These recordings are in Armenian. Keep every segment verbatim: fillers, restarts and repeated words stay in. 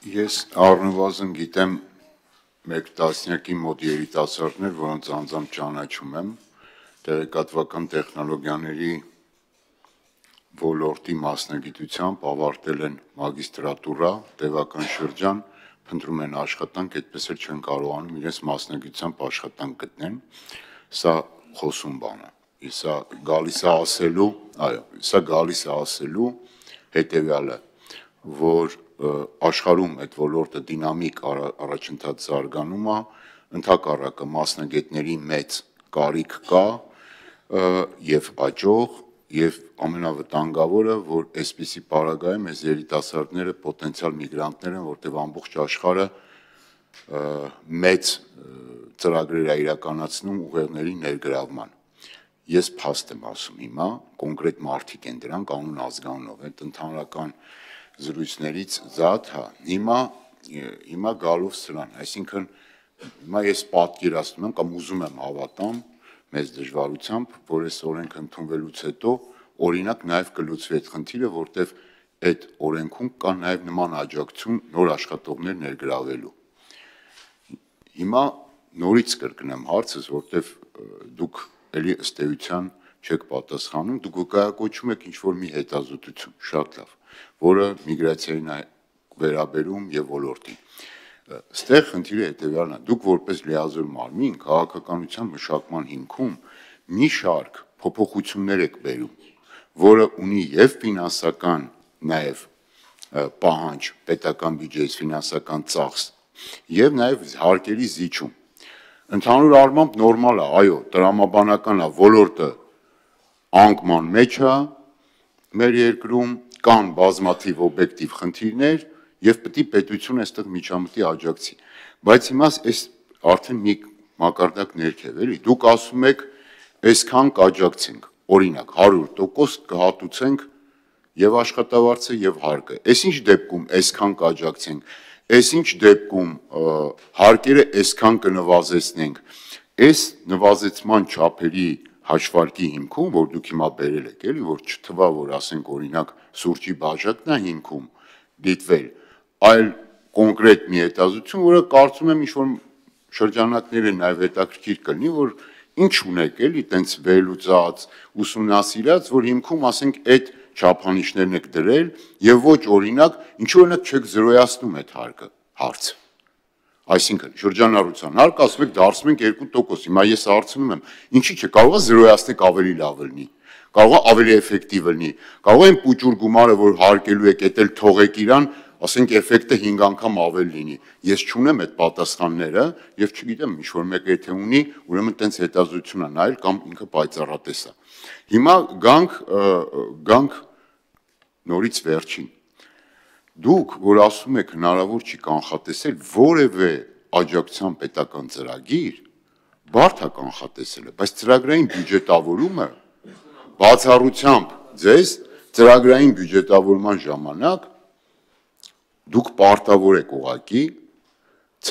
Ես առնվազն գիտեմ մեկ տասնյակի մոտ երիտասարդներ, որոնց անձամբ ճանաչում եմ, տեղեկատվական տեխնոլոգիաների ոլորտի մասնագիտությամբ ավարտել են մագիստրատուրա, տևական շրջան, փնտրում են աշխատանք, այդպես էլ չեն կարողանում իրենց մասնագիտությամբ աշխատանք գտնեն, սա խոսում բան է, սա գալիս է ասելու, այո, սա գալիս է ասելու հետևյալը, որ աշխարհում այդ ոլորտը դինամիկ առաջընթաց զարգանում է, ընդհակառակը մասնագետների մեծ կարիք կա եւ աճող եւ ամենավտանգավորը, որ այսպիսի պարագայում այս երիտասարդները պոտենցիալ միգրանտներ են, որտեղ ամբողջ աշխարհը մեծ ծրագրեր է իրականացնում ուղեղների ներգրավման։ Ես փաստ եմ ասում հիմա, կոնկրետ մարդիկ են դրանք անուն ազգանունով, այդ ընդհանրական զրույցներից զատ, հա, հիմա հիմա գալով սրան, այսինքն հիմա ես պատկերացնում եմ կամ ուզում եմ հավատամ մեծ դժվարությամբ, որ այս օրենք ընդունվելուց հետո օրինակ նաև կլուծվի այդ խնդիրը, որտեվ այդ օրենքում կա նաև նման աջակցություն նոր աշխատողներ ներգրավելու։ Հիմա նորից կրկնեմ հարցս, որտեվ դուք էլի ըստ էության չեք պատասխանում, դուք վկայակոչում եք ինչ-որ մի հետազոտություն, շատ լավ, որը միգրացիային է վերաբերում եւ ոլորտին։ Ստեղ խնդիրը հետեւյալն է, դուք որպես լիազոր մարմին քաղաքականության մշակման հիմքում մի շարք փոփոխություններ եք բերում, որը ունի եւ ֆինանսական նաեւ պահանջ, պետական բյուջեից ֆինանսական ծախս եւ նաեւ հարկերի զիջում։ Ընդհանուր առմամբ նորմալ է, այո, տրամաբանական է, ոլորտը անկման մեջ է մեր երկրում, կան բազմաթիվ օբյեկտիվ խնդիրներ եւ պետք է պետությունը այստեղ միջամտի աջակցի, բայց հիմա այս արդեն մի մակարդակ ներքև էլի, դուք ասում եք այսքան կաջակցենք, օրինակ հարյուր տոկոս կհատուցենք եւ աշխատավարձը եւ հարկը, այսինչ դեպքում այսքան կաջակցենք, այսինչ դեպքում հարկերը այսքան կնվազեցնենք, այս նվազեցման չափերի հաշվարկի հիմքում, որ դուք հիմա բերել եք, էլի, որ չթվա, որ ասենք օրինակ սուրճի բաժակն է հիմքում դիտվել, այլ կոնկրետ մի հետազոտություն, որը կարծում եմ ինչ-որ շրջանակները նաև հետաքրքիր կլինի, որ ինչ ունեք էլի, տենց վերլուծած, ուսումնասիրած, որ հիմքում ասենք այդ չափանիշներն եք դրել եւ ոչ օրինակ, ինչու օրինակ չեք զրոյացնում այդ հարկը, հարցը։ Այսինքն շրջանառության հարկ ասում եք դարձնում ենք երկու տոկոս, հիմա ես հարցնում եմ, ինչի՞ չէ, կարող է զրոյացնեք ավելի լավ լինի, կարող է ավելի էֆեկտիվ լինի, կարող է այն պուճուր գումարը, որ հարկելու եք, էդ էլ թողեք իրան, ասենք էֆեկտը հինգ անգամ ավելի լինի։ Ես չունեմ այդ պատասխանները եւ չգիտեմ, ինչ որ մեկը եթե ունի, ուրեմն տենց հետազոտություն է նայել կամ ինքը պայծառատես է։ Հիմա գանք գանք նորից վերջին։ Դուք, որ ասում եք հնարավոր չի կանխատեսել որևէ աջակցության պետական ծրագիր, բարդ է կանխատեսելը, բայց ծրագրային բյուջետավորումը բացառությամբ ձեզ ծրագրային բյուջետավորման ժամանակ դուք պարտավոր եք ուղղակի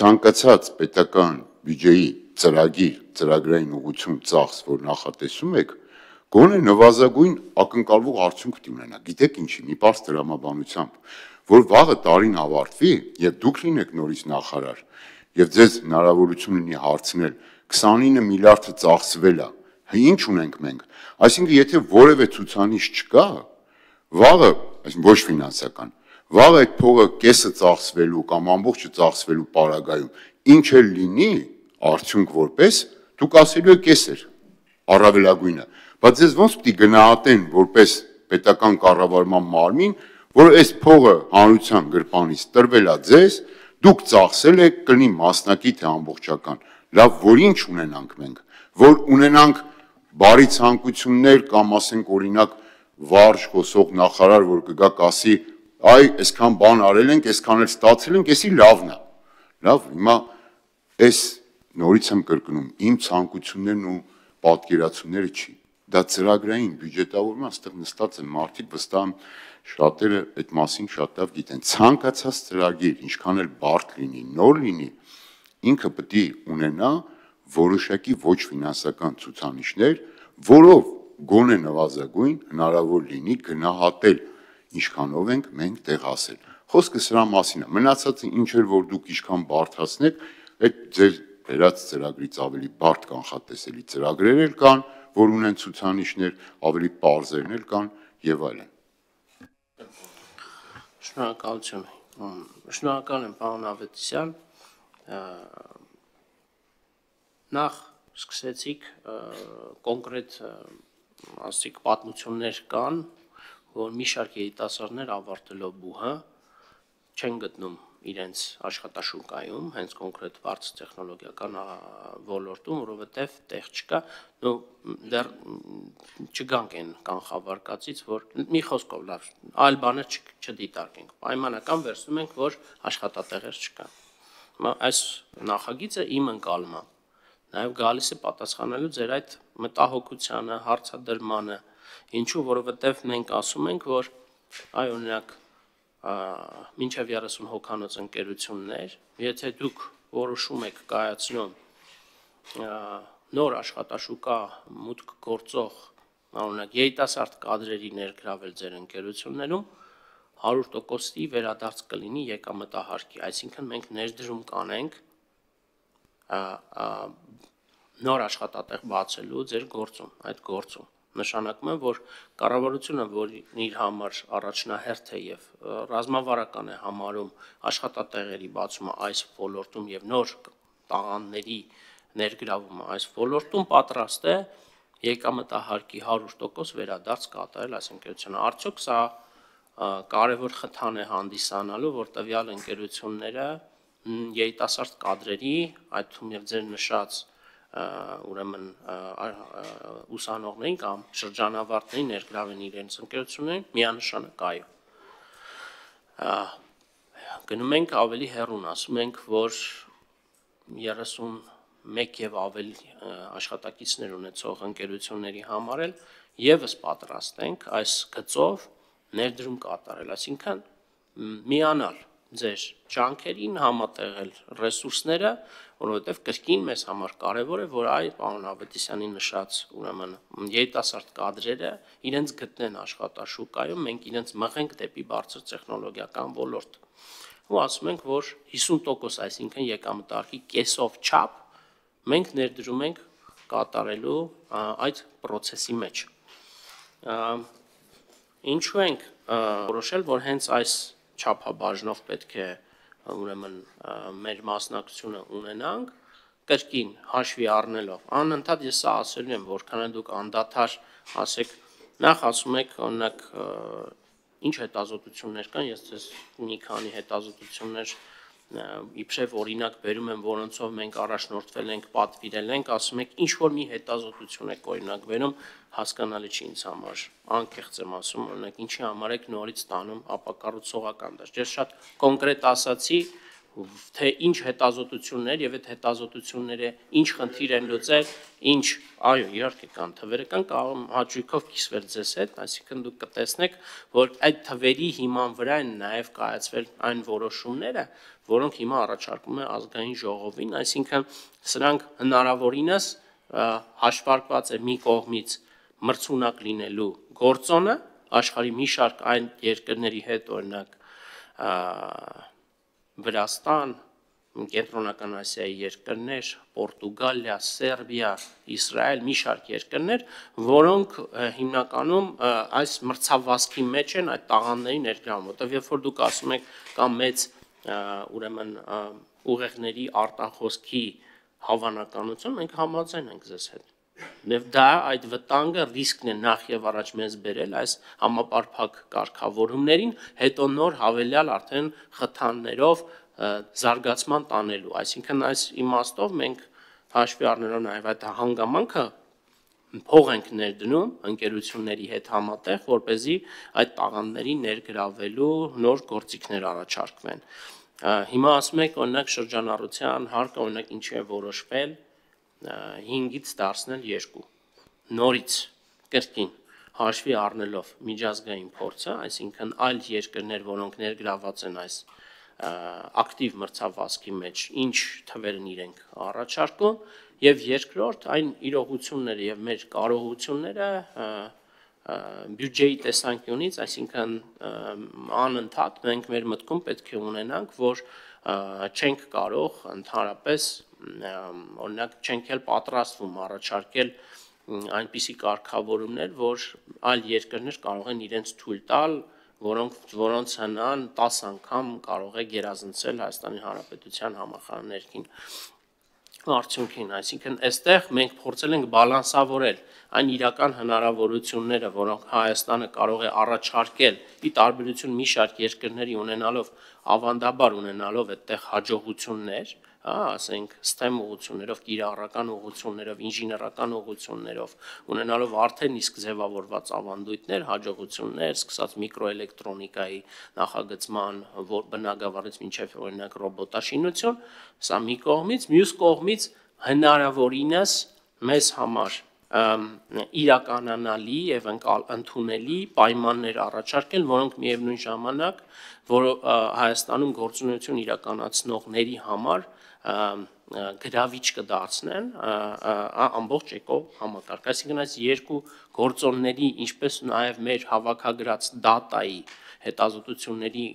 ցանկացած պետական բյուջեի ծրագիր, ծրագրային ուղղություն ծախս, որ նախատեսում եք, գոնե նվազագույն ակնկալվող արդյունք ունենա։ Գիտեք ինչի, մի պարզ տրամաբանությամբ, որ վաղը տարին ավարտվի եւ դուք լինեք նորից նախարար եւ ձեզ հնարավորություն լինի հարցնել քսանինը միլիարդը ծախսվել է, ինչ ունենք մենք։ Այսինքն եթե որևէ ցուցանիշ չկա, վաղը, այսինքն ոչ ֆինանսական, վաղը այդ փողը կեսը ծախսվելու կամ ամբողջը ծախսվելու պարագայում ինչ էլ լինի արդյունք որպես, դուք ասելու եք կես էր առավելագույնը, բայց ձեզ ոնց պետք է գնահատեն որպես պետական կառավարման մարմին, որ այս փողը հանրության գրպանից տրվել է ձեզ, դուք ծախսել եք, կլինի մասնակի թե ամբողջական, լավ, որ ինչ ունենանք մենք, որ ունենանք բարի ցանկություններ կամ ասենք օրինակ վարժ խոսող նախարար, որ կգա կասի, այ այսքան բան արել ենք, այսքան էլ ստացել ենք, էսի լավն է։ Լավ, հիմա այս նորից եմ կրկնում, իմ ցանկություններն ու պատկերացումները չի։ Դա ծրագրային բյուջետավորման, այստեղ նստած են մարդիկ, վստահ եմ շատերը այդ մասին շատ լավ գիտեն։ Ցանկացած ծրագիր, ինչքան էլ բարդ լինի, նոր լինի, ինքը պետք է ունենա որոշակի ոչ ֆինանսական ցուցանիշներ, որով գոնե նվազագույն հնարավոր լինի գնահատել ինչքանով ենք մենք տեղ հասել։ Խոսքը սրա մասին է։ Մնացածը ինչ էր որ դուք ինչքան բարդացնեք, այդ ձեր վերած ծրագրից ավելի բարդ կանխատեսելի ծրագրեր էլ կան, որ ունեն ցուցանիշներ, ավելի պարզերն էլ կան եւ այլն։ Շնորհակալություն։ Շնորհակալ եմ, պարոն Ավետիսյան։ Նախ սկսեցիք կոնկրետ ասիկ պատմություններ կան, որ մի շարք երիտասարդներ ավարտելով բուհը չեն գտնում իրենց աշխատաշուկայում, հենց կոնկրետ բարձր տեխնոլոգիական ոլորտում, որովհետև տեղ չկա, ու դեռ չգանք են կանխավարկածից, որ մի խոսքով լավ, այլ բաներ չդիտարկենք, պայմանական վերցնում ենք, որ աշխատատեղեր չկա։ Այս նախագիծը իմ ընկալում է, նաև գալիս է պատասխանելու ձեր այդ մտահոգությանը, հարցադրմանը, ինչու, որովհետև մենք ասում ենք, որ այ օրինակ մինչև երեսուն հոգանոց ընկերություններ, եթե դուք որոշում եք կայացնում նոր աշխատաշուկա մուտք գործող օրինակ երիտասարդ կադրերի ներգրավել ձեր ընկերություններում, հարյուր տոկոսի վերադարձ կլինի եկամտահարկի, այսինքն մենք ներդրում կանենք նոր աշխատատեղ բացելու ձեր գործում, այդ գործում։ Նշանակում է, որ կառավարությունը, որ իր համար առաջնահերթ է եւ ռազմավարական է համարում աշխատատեղերի բացումը այս ոլորտում եւ նոր տաղանդների ներգրավումը այս ոլորտում, պատրաստ է եկամտահարկի հարյուր տոկոս վերադարձ կատարել այս ընկերությունը։ Արդյոք սա կարևոր խթան է հանդիսանալու, որ տվյալ ընկերությունները երիտասարդ կադրերի, այդ թվում եւ ձեր նշած ուրեմն ուսանողներին կամ շրջանավարտներին ներգրավեն իրենց ընկերություններին, միանշանակ այո։ Գնում ենք ավելի հեռուն, ասում ենք, որ երեսուն մեկ եւ ավելի աշխատակիցներ ունեցող ընկերությունների համար էլ եւս պատրաստ ենք այս գծով ներդրում կատարել, այսինքն միանալ ձեր ջանքերին, համատեղել ռեսուրսները, որովհետև կրկին մեզ համար կարևոր է, որ այ պարոն Ավետիսյանի նշած ուրեմն երիտասարդ կադրերը իրենց գտնեն աշխատաշուկայում, մենք իրենց մղենք դեպի բարձր տեխնոլոգիական ոլորտ։ Ու ասում ենք, որ հիսուն տոկոս, այսինքն եկամտահարկի կեսով չափ մենք ներդրում ենք կատարելու այդ process-ի մեջ։ Ինչու ենք որոշել, որ հենց այս չափաբաժնով պետք է ուրեմն մեր մասնակցությունը ունենանք, կրկին հաշվի առնելով, անընդհատ ես սա ասելու եմ, որքան դուք անդադար ասեք, նախ ասում եք, օրինակ, ինչ հետազոտություններ կան, ես ձեզ մի քանի հետազոտություններ իբրև օրինակ բերում եմ, որոնցով մենք առաջնորդվել ենք, պատվիրել ենք, ասում եք, ինչ որ մի հետազոտություն եք օրինակ բերում, հասկանալի չի ինձ համար, անկեղծ եմ ասում, օրինակ ինչի համար եք նորից ստանում ապակառուցողական դաշտ։ Ես շատ կոնկրետ ասացի, թե ինչ հետազոտություններ եւ այդ հետազոտությունները ինչ խնդիր են լուծել, ինչ, այո, իհարկե կան թվերը կան, կարող եմ հաճույքով կիսվել ձեզ հետ, այսինքն դուք կտեսնեք, որ այդ թվերի հիման վրա են նաեւ կայացվել այն որոշումները, որոնք հիմա առաջարկում է ազգային ժողովին, այսինքն սրանք հնարավորինս հաշվարկված է մի կողմից մրցունակ լինելու գործոնը, աշխարհի մի շարք այն երկրների հետ, օրինակ Վրաստան, Կենտրոնական Ասիայի երկրներ, Պորտուգալիա, Սերբիա, Իսրայել, մի շարք երկրներ, որոնք հիմնականում այս մրցավազքի մեջ են այդ տաղանդների ներգրավում, որտեղ երբ որ դուք ասում եք կամ մեծ ուրեմն ուղեղների արտախոսքի հավանականություն, մենք համաձայն ենք ձեզ հետ։ Եվ դա այդ վտանգը ռիսկն է նախ եւ առաջ մեզ բերել այս համապարփակ կարգավորումներին, հետո նոր հավելյալ արդեն խթաններով զարգացման տանելու, այսինքն այս իմաստով մենք հաշվի առնելով նաեւ այդ հանգամանքը փող ենք ներդնում ընկերությունների հետ համատեղ, որ เป զի այդ տաղանդների ներգրավելու նոր գործիքներ առաջարկվեն։ Հիմա ասում եք օրինակ շրջանառության հարկը օրինակ ինչի է որոշվել հինգից դարձնել երկու, նորից կրկին հաշվի առնելով միջազգային փորձը, այսինքն այլ երկրներ, որոնք ներգրաված են այս ակտիվ մրցավազքի մեջ, ինչ թվեր են իրենք առաջարկում, եւ երկրորդ այն իրողությունները եւ մեր կարողությունները բյուջեի տեսանկյունից, այսինքն անընդհատ մենք մեր մտքում պետք է ունենանք, որ չենք կարող ընդհանրապես օրինակ չենք էլ պատրաստվում առաջարկել այնպիսի կարգավորումներ, որ այլ երկրներ կարող են իրենց թույլ տալ, որոնք որոնց հնան տասը անգամ կարող է գերազանցել Հայաստանի Հանրապետության համախառն արդյունքին, այսինքն այստեղ մենք փորձել ենք բալանսավորել այն իրական հնարավորությունները, որոնք Հայաստանը կարող է առաջարկել՝ ի տարբերություն մի շարք երկրների ունենալով ավանդաբար ունենալով այդտեղ հաջողություններ, ասենք STEM ուղղություններով, կիրառական ուղղություններով, ինժեներական ուղղություններով, ունենալով արդեն իսկ ձևավորված ավանդույթներ, հաջողություններ, սկսած միկրոէլեկտրոնիկայի նախագծման, որ բնագավառից մինչև օրինակ ռոբոտաշինություն, սա մի կողմից, մյուս կողմից հնարավորինս մեզ համար իրականանալի եւ ընդունելի պայմաններ առաջարկել, որոնք միևնույն ժամանակ, որ Հայաստանում գործունեություն իրականացնողների համար գրավիչ կդարձնեն ամբողջ էկո համակարգ, այսինքն այս երկու գործոնների, ինչպես նաև մեր հավաքագրած դատայի հետազոտությունների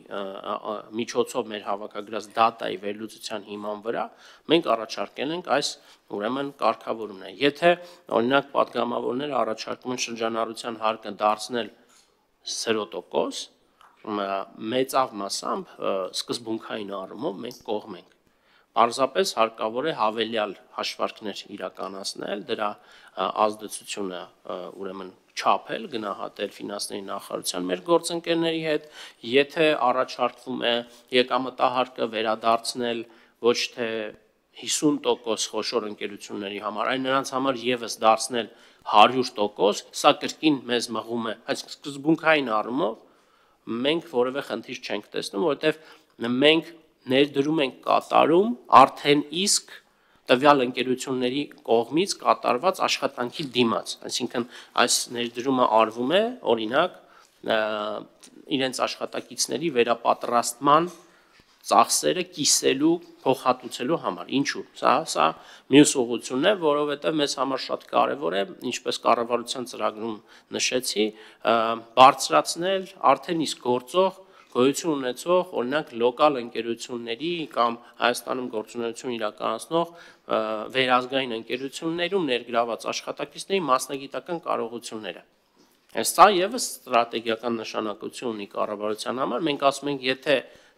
միջոցով մեր հավաքագրած դատայի վերլուծության հիման վրա մենք առաջարկել ենք այս ուրեմն կարգավորումները։ Եթե օրինակ պատգամավորները առաջարկում են շրջանառության հարկը դարձնել զիրո տոկոս, մեծավ մասամբ սկզբունքային առումով մենք կողմ ենք։ Պարզապես հարկավոր է հավելյալ հաշվարկներ իրականացնել, դրա ազդեցությունը ուրեմն չափել, գնահատել ֆինանսների նախարարության մեր գործընկերների հետ, եթե առաջարկվում է եկամտահարկը վերադարձնել ոչ թե հիսուն տոկոս խոշոր ընկերությունների համար, այլ նրանց համար եւս դարձնել հարյուր տոկոս, սա կրկին մեզ մղում է, այս սկզբունքային առումով մենք որևէ խնդիր չենք տեսնում, որովհետեւ մենք ներդրում ենք կատարում արդեն իսկ տվյալ ընկերությունների կողմից կատարված աշխատանքի դիմաց, այսինքն այս ներդրումը արվում է օրինակ իրենց աշխատակիցների վերապատրաստման ծախսերը կիսելու, փոխհատուցելու համար, ինչու՞, սա սա մյուս ուղղությունն է, որովհետև մեզ համար շատ կարևոր է, ինչպես կառավարության ծրագրում նշեցի, բարձրացնել արդեն իսկ գործող գոյություն ունեցող օրինակ լոկալ ընկերությունների կամ Հայաստանում գործունեություն իրականացնող վերազգային ընկերություններում ներգրաված աշխատակիցների մասնագիտական կարողությունները։ Սա եւս ստրատեգիական նշանակություն ունի կառավարության համար, մենք ասում ենք, եթե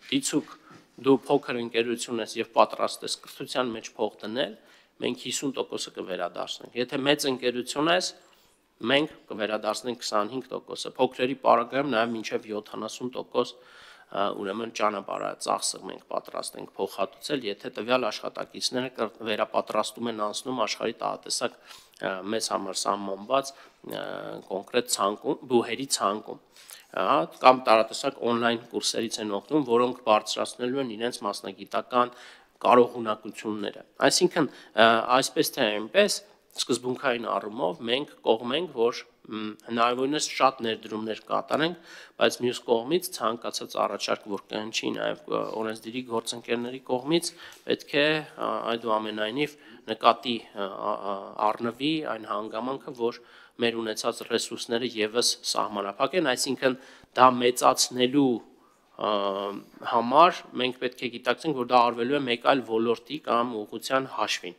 դիցուք դու փոքր ընկերություն ես եւ պատրաստ ես կրթության մեջ փող դնել, մենք հիսուն տոկոսը կվերադարձնենք։ Եթե մեծ ընկերություն ես, մենք կվերադարձնենք քսանհինգ տոկոսը, փոքրերի պարագայում նաև մինչև յոթանասուն տոկոս ուրեմն ճանապարհածախսը մենք պատրաստ ենք փոխհատուցել, եթե տվյալ աշխատակիցները վերապատրաստում են անցնում աշխարհի տաղատեսակ մեզ համար սահմանված կոնկրետ ցանկում, բուհերի ցանկում, կամ տարատեսակ օնլայն կուրսերից են օգտվում, որոնք բարձրացնելու են իրենց մասնագիտական կարողունակությունները։ Այսինքն, այսպես թե այնպես սկզբունքային առումով մենք կողմ ենք, որ հնարավորինս շատ ներդրումներ կատարենք, բայց մյուս կողմից ցանկացած առաջարկ, որ կհնչի նաև օրենսդիրի գործընկերների կողմից, պետք է այդուամենայնիվ նկատի առնվի այն հանգամանքը, որ մեր ունեցած ռեսուրսները եւս սահմանափակ են, այսինքն դա մեծացնելու համար մենք պետք է գիտակցենք, որ դա արվելու է մեկ այլ ոլորտի կամ ուղղության հաշվին։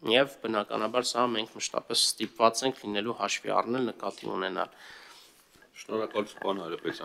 Եվ բնականաբար սա մենք մշտապես ստիպված ենք լինելու հաշվի առնել, նկատի ունենալ։ Շնորհակալություն, պարոն Հայրապետյան։